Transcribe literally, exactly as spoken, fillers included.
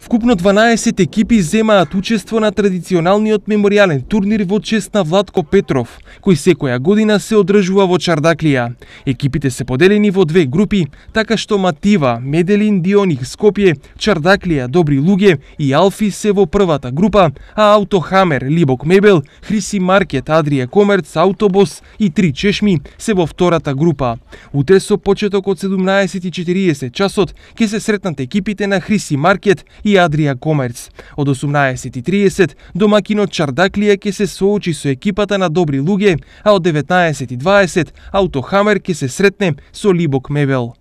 Вкупно дванаесет екипи земаат учество на традиционалниот меморијален турнир во чест на Владко Петров, кој секоја година се одржува во Чардаклија. Екипите се поделени во две групи, така што Матива, Меделин, Дионих, Скопје, Чардаклија, Добри луѓе и Алфи се во првата група, а Аутохамер, Либок Мебел, Хриси Маркет, Адрија Комерц, Аутобос и Три чешми се во втората група. Утре со почеток од седумнаесет и четириесет часот ќе се сретнат екипите на Хриси Маркет и Адрија Комерц. Од осумнаесет и триесет домакинот Чардаклија ќе се соочи со екипата на Добри луѓе, а од деветнаесет и дваесет Аутохамер ќе се сретне со Либок Мебел.